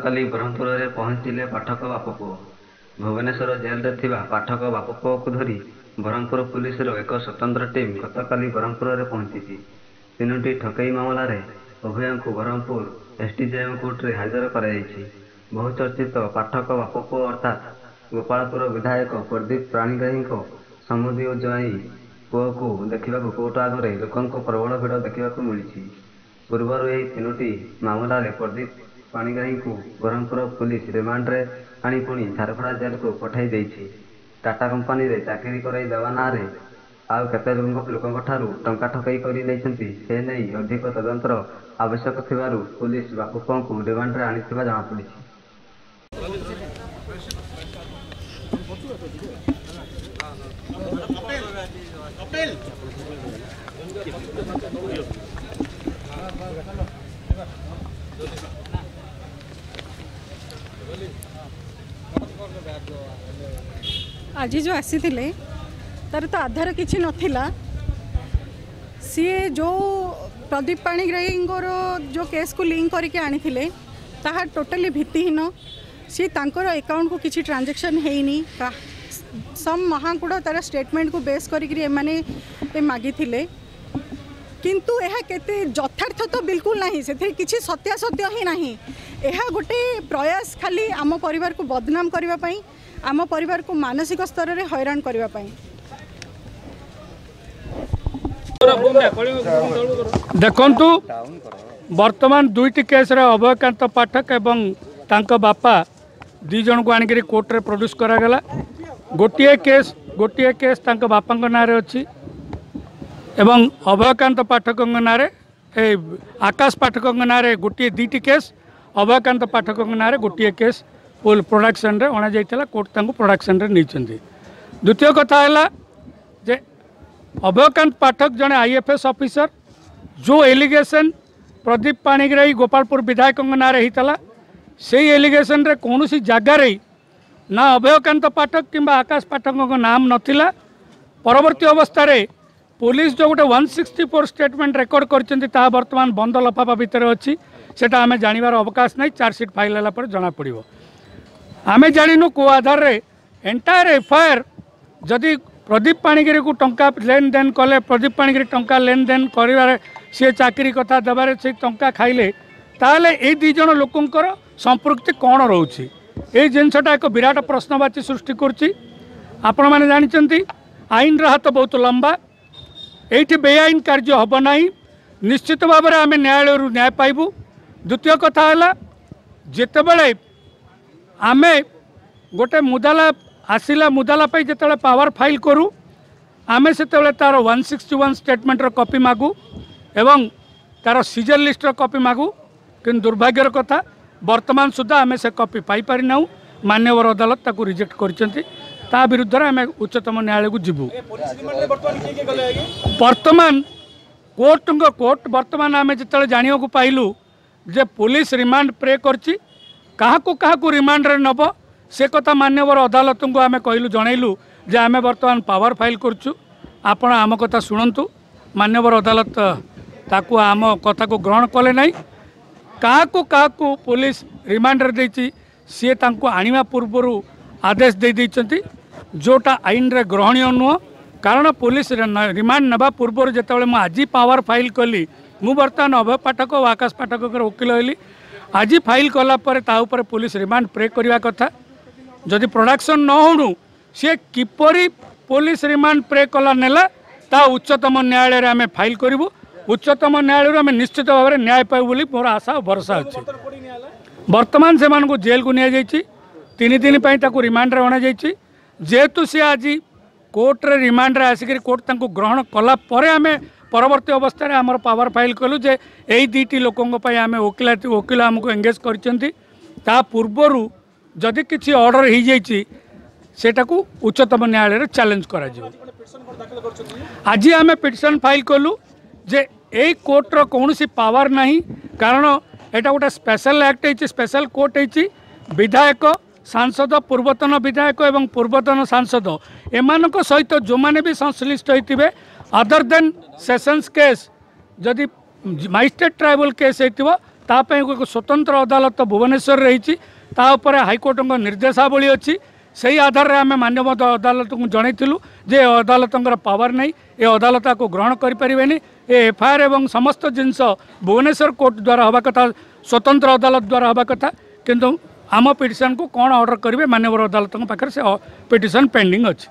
ଗତକାଲି ବ୍ରହ୍ମପୁରରେ ପହଞ୍ଚିଲେ ପାଠକ ବାପପୁଅ। ଭୁବନେଶ୍ୱର ଜେଲରେ ଥିବା ପାଠକ ବାପପୁଅକୁ ଧରି ବ୍ରହ୍ମପୁର ପୁଲିସର ଏକ ସ୍ୱତନ୍ତ୍ର ଟିମ୍ ଗତକାଲି ବ୍ରହ୍ମପୁରରେ ପହଞ୍ଚିଛି। ତିନୋଟି ଠକେଇ ମାମଲାରେ ଉଭୟଙ୍କୁ ବ୍ରହ୍ମପୁର ଏସ୍ଡିଜେଏମ୍ କୋର୍ଟରେ ହାଜର କରାଯାଇଛି। ବହୁଚର୍ଚ୍ଚିତ ପାଠକ ବାପପୁଅ ଅର୍ଥାତ୍ ଗୋପାଳପୁର ବିଧାୟକ ପ୍ରଦୀପ ପାଣିଗ୍ରାହୀଙ୍କ ସମୁଦି ଓ ଜ୍ୱାଇଁ ପୁଅକୁ ଦେଖିବାକୁ କୋର୍ଟ ଆଗରେ ଲୋକଙ୍କ ପ୍ରବଳ ଭିଡ଼ ଦେଖିବାକୁ ମିଳିଛି। ପୂର୍ବରୁ ଏହି ତିନୋଟି ମାମଲାରେ ପ୍ରଦୀପ ପାଣିଗ୍ରାହୀଙ୍କୁ ବ୍ରହ୍ମପୁର ପୁଲିସ ରିମାଣ୍ଡରେ ଆଣି ପୁଣି ଝାରପଡ଼ା ଜେଲକୁ ପଠାଇ ଦେଇଛି। ଟାଟା କମ୍ପାନୀରେ ଚାକିରି କରାଇ ଦେବା ନାଁରେ ଆଉ କେତେ ଲୋକଙ୍କଠାରୁ ଟଙ୍କା ଠକେଇ କରି ନେଇଛନ୍ତି ସେ ନେଇ ଅଧିକ ତଦନ୍ତର ଆବଶ୍ୟକ ଥିବାରୁ ପୁଲିସ ବାପପୁଅଙ୍କୁ ରିମାଣ୍ଡରେ ଆଣିଥିବା ଜଣାପଡ଼ିଛି। ଆଜି ଯେଉଁ ଆସିଥିଲେ ତାର ତ ଆଧାର କିଛି ନଥିଲା। ସିଏ ଯେଉଁ ପ୍ରଦୀପ ପାଣିଗ୍ରାହୀଙ୍କର ଯେଉଁ କେସ୍କୁ ଲିଙ୍କ କରିକି ଆଣିଥିଲେ ତାହା ଟୋଟାଲି ଭିତ୍ତିହୀନ। ସିଏ ତାଙ୍କର ଆକାଉଣ୍ଟକୁ କିଛି ଟ୍ରାଞ୍ଜାକ୍ସନ୍ ହେଇନି। ସମ୍ ମହାକୁଡ଼ ତାର ଷ୍ଟେଟମେଣ୍ଟକୁ ବେସ୍ କରିକିରି ଏମାନେ ମାଗିଥିଲେ, କିନ୍ତୁ ଏହା କେତେ ଯଥାର୍ଥ ତ ବିଲକୁଲ ନାହିଁ। ସେଥିରେ କିଛି ସତ୍ୟାସତ୍ୟ ହିଁ ନାହିଁ। ଏହା ଗୋଟେ ପ୍ରୟାସ ଖାଲି ଆମ ପରିବାରକୁ ବଦନାମ କରିବା ପାଇଁ, ଆମ ପରିବାରକୁ ମାନସିକ ସ୍ତରରେ ହଇରାଣ କରିବା ପାଇଁ। ଦେଖନ୍ତୁ, ବର୍ତ୍ତମାନ ଦୁଇଟି କେସ୍ରେ ଅଭୟକାନ୍ତ ପାଠକ ଏବଂ ତାଙ୍କ ବାପା ଦୁଇ ଜଣଙ୍କୁ ଆଣିକରି କୋର୍ଟରେ ପ୍ରଡ୍ୟୁସ୍ କରାଗଲା। ଗୋଟିଏ କେସ୍ ତାଙ୍କ ବାପାଙ୍କ ନାଁରେ ଅଛି ଏବଂ ଅଭୟକାନ୍ତ ପାଠକଙ୍କ ନାଁରେ, ଏ ଆକାଶ ପାଠକଙ୍କ ନାଁରେ ଗୋଟିଏ ଦୁଇଟି କେସ୍, ଅଭୟକାନ୍ତ ପାଠକଙ୍କ ନାଁରେ ଗୋଟିଏ କେସ୍ ପ୍ରଡକ୍ସନରେ ଅଣାଯାଇଥିଲା। କୋର୍ଟ ତାଙ୍କୁ ପ୍ରଡକ୍ସନରେ ନେଇଛନ୍ତି। ଦ୍ୱିତୀୟ କଥା ହେଲା ଯେ ଅଭୟକାନ୍ତ ପାଠକ ଜଣେ ଆଇଏଫଏସ୍ ଅଫିସର। ଯେଉଁ ଏଲିଗେସନ୍ ପ୍ରଦୀପ ପାଣିଗ୍ରାହୀ ଗୋପାଳପୁର ବିଧାୟକଙ୍କ ନାଁରେ ହେଇଥିଲା, ସେଇ ଏଲିଗେସନରେ କୌଣସି ଜାଗାରେ ନା ଅଭୟକାନ୍ତ ପାଠକ କିମ୍ବା ଆକାଶ ପାଠକଙ୍କ ନାମ ନଥିଲା। ପରବର୍ତ୍ତୀ ଅବସ୍ଥାରେ ପୋଲିସ ଯେଉଁ ଗୋଟେ 164 ଷ୍ଟେଟମେଣ୍ଟ ରେକର୍ଡ଼ କରିଛନ୍ତି, ତାହା ବର୍ତ୍ତମାନ ବନ୍ଦ ଲଫାଫା ଭିତରେ ଅଛି। ସେଟା ଆମେ ଜାଣିବାର ଅବକାଶ ନାହିଁ। ଚାର୍ଜସିଟ୍ ଫାଇଲ୍ ହେଲା ପରେ ଜଣାପଡ଼ିବ। ଆମେ ଜାଣିନୁ କେଉଁ ଆଧାରରେ ଏଣ୍ଟାୟାର ଏଫଆଇଆର୍ ଯଦି ପ୍ରଦୀପ ପାଣିଗ୍ରାହୀକୁ ଟଙ୍କା ଲେନଦେନ କଲେ, ପ୍ରଦୀପ ପାଣିଗ୍ରାହୀ ଟଙ୍କା ଲେନଦେନ କରିବାରେ, ସିଏ ଚାକିରି କଥା ଦେବାରେ ସେ ଟଙ୍କା ଖାଇଲେ, ତାହେଲେ ଏଇ ଦୁଇ ଜଣ ଲୋକଙ୍କର ସମ୍ପୃକ୍ତି କ'ଣ ରହୁଛି? ଏଇ ଜିନିଷଟା ଏକ ବିରାଟ ପ୍ରଶ୍ନବାଚୀ ସୃଷ୍ଟି କରୁଛି। ଆପଣମାନେ ଜାଣିଛନ୍ତି ଆଇନର ହାତ ବହୁତ ଲମ୍ବା। ଏଇଠି ବେଆଇନ କାର୍ଯ୍ୟ ହେବ ନାହିଁ। ନିଶ୍ଚିତ ଭାବରେ ଆମେ ନ୍ୟାୟାଳୟରୁ ନ୍ୟାୟ ପାଇବୁ। ଦ୍ୱିତୀୟ କଥା ହେଲା, ଯେତେବେଳେ ଆମେ ଗୋଟେ ମୁଦାଲା ଆସିଲା, ମୁଦାଲା ପାଇଁ ଯେତେବେଳେ ପାୱାର ଫାଇଲ୍ କରୁ, ଆମେ ସେତେବେଳେ ତା'ର 161 ଷ୍ଟେଟମେଣ୍ଟର କପି ମାଗୁ ଏବଂ ତା'ର ସିଜର ଲିଷ୍ଟର କପି ମାଗୁ। କିନ୍ତୁ ଦୁର୍ଭାଗ୍ୟର କଥା, ବର୍ତ୍ତମାନ ସୁଦ୍ଧା ଆମେ ସେ କପି ପାଇପାରିନାହୁଁ। ମାନ୍ୟବର ଅଦାଲତ ତାକୁ ରିଜେକ୍ଟ କରିଛନ୍ତି। ତା ବିରୁଦ୍ଧରେ ଆମେ ଉଚ୍ଚତମ ନ୍ୟାୟାଳୟକୁ ଯିବୁ। ବର୍ତ୍ତମାନ କୋର୍ଟଙ୍କ କୋର୍ଟ ବର୍ତ୍ତମାନ ଆମେ ଯେତେବେଳେ ଜାଣିବାକୁ ପାଇଲୁ ଯେ ପୋଲିସ ରିମାଣ୍ଡ ପ୍ରେ କରିଛି, କାହାକୁ କାହାକୁ ରିମାଣ୍ଡରେ ନେବ ସେ କଥା ମାନ୍ୟବର ଅଦାଲତଙ୍କୁ ଆମେ କହିଲୁ, ଜଣାଇଲୁ ଯେ ଆମେ ବର୍ତ୍ତମାନ ପାୱାର ଫାଇଲ୍ କରୁଛୁ, ଆପଣ ଆମ କଥା ଶୁଣନ୍ତୁ। ମାନ୍ୟବର ଅଦାଲତ ତାକୁ ଆମ କଥାକୁ ଗ୍ରହଣ କଲେ ନାହିଁ। କାହାକୁ କାହାକୁ ପୋଲିସ ରିମାଣ୍ଡରେ ଦେଇଛି, ସିଏ ତାଙ୍କୁ ଆଣିବା ପୂର୍ବରୁ ଆଦେଶ ଦେଇଦେଇଛନ୍ତି, ଯେଉଁଟା ଆଇନରେ ଗ୍ରହଣୀୟ ନୁହଁ। କାରଣ ପୋଲିସ ରିମାଣ୍ଡ ନେବା ପୂର୍ବରୁ ଯେତେବେଳେ ମୁଁ ଆଜି ପାୱାର ଫାଇଲ୍ କଲି, ମୁଁ ବର୍ତ୍ତମାନ ଅଭୟ ପାଠକ ଓ ଆକାଶ ପାଠକଙ୍କର ଓକିଲ ହେଲି। ଆଜି ଫାଇଲ୍ କଲା ପରେ ତା ଉପରେ ପୋଲିସ ରିମାଣ୍ଡ ପ୍ରେ କରିବା କଥା। ଯଦି ପ୍ରଡକ୍ସନ୍ ନ ହେଉଣୁ ସିଏ କିପରି ପୋଲିସ ରିମାଣ୍ଡ ପ୍ରେ କଲା ନେଲା, ତା ଉଚ୍ଚତମ ନ୍ୟାୟାଳୟରେ ଆମେ ଫାଇଲ୍ କରିବୁ। ଉଚ୍ଚତମ ନ୍ୟାୟାଳୟରୁ ଆମେ ନିଶ୍ଚିତ ଭାବରେ ନ୍ୟାୟ ପାଇବୁ ବୋଲି ମୋର ଆଶା ଓ ଭରସା ଅଛି। ବର୍ତ୍ତମାନ ସେମାନଙ୍କୁ ଜେଲକୁ ନିଆଯାଇଛି। 3 ଦିନ ପାଇଁ ତାକୁ ରିମାଣ୍ଡରେ ଅଣାଯାଇଛି। ଯେହେତୁ ସିଏ ଆଜି କୋର୍ଟରେ ରିମାଣ୍ଡରେ ଆସିକରି କୋର୍ଟ ତାଙ୍କୁ ଗ୍ରହଣ କଲା ପରେ ଆମେ ପରବର୍ତ୍ତୀ ଅବସ୍ଥାରେ ଆମର ପାୱାର ଫାଇଲ୍ କଲୁ ଯେ ଏଇ ଦୁଇଟି ଲୋକଙ୍କ ପାଇଁ ଆମେ ଓକିଲ ଆମକୁ ଏଙ୍ଗେଜ୍ କରିଛନ୍ତି। ତା ପୂର୍ବରୁ ଯଦି କିଛି ଅର୍ଡ଼ର ହେଇଯାଇଛି, ସେଟାକୁ ଉଚ୍ଚତମ ନ୍ୟାୟାଳୟରେ ଚ୍ୟାଲେଞ୍ଜ କରାଯିବ। ଆଜି ଆମେ ପିଟିସନ୍ ଫାଇଲ୍ କଲୁ ଯେ ଏଇ କୋର୍ଟର କୌଣସି ପାୱାର ନାହିଁ, କାରଣ ଏଇଟା ଗୋଟେ ସ୍ପେଶାଲ ଆକ୍ଟ ହେଇଛି, ସ୍ପେଶାଲ କୋର୍ଟ ହେଇଛି। ବିଧାୟକ, ସାଂସଦ, ପୂର୍ବତନ ବିଧାୟକ ଏବଂ ପୂର୍ବତନ ସାଂସଦ ଏମାନଙ୍କ ସହିତ ଯେଉଁମାନେ ବି ସଂଶ୍ଳିଷ୍ଟ ହେଇଥିବେ, ଅଦର ଦେନ୍ ସେସନ୍ସ କେସ୍, ଯଦି ମାଜିଷ୍ଟ୍ରେଟ୍ ଟ୍ରାଇବୁଲ କେସ୍ ହେଇଥିବ, ତା ପାଇଁ ଏକ ସ୍ୱତନ୍ତ୍ର ଅଦାଲତ ଭୁବନେଶ୍ୱରରେ ରହିଛି, ତା ଉପରେ ହାଇକୋର୍ଟଙ୍କ ନିର୍ଦ୍ଦେଶାବଳୀ ଅଛି। ସେଇ ଆଧାରରେ ଆମେ ମାନ୍ୟବର ଅଦାଲତଙ୍କୁ ଜଣାଇଥିଲୁ ଯେ ଏ ଅଦାଲତଙ୍କର ପାୱାର ନାହିଁ, ଏ ଅଦାଲତ ଆକୁ ଗ୍ରହଣ କରିପାରିବେନି। ଏ ଏଫଆଇଆର୍ ଏବଂ ସମସ୍ତ ଜିନିଷ ଭୁବନେଶ୍ୱର କୋର୍ଟ ଦ୍ୱାରା ହେବା କଥା, ସ୍ୱତନ୍ତ୍ର ଅଦାଲତ ଦ୍ୱାରା ହେବା କଥା। କିନ୍ତୁ ଆମ ପିଟିସନ୍କୁ କ'ଣ ଅର୍ଡ଼ର କରିବେ, ମାନ୍ୟବର ଅଦାଲତଙ୍କ ପାଖରେ ସେ ପିଟିସନ୍ ପେଣ୍ଡିଂ ଅଛି।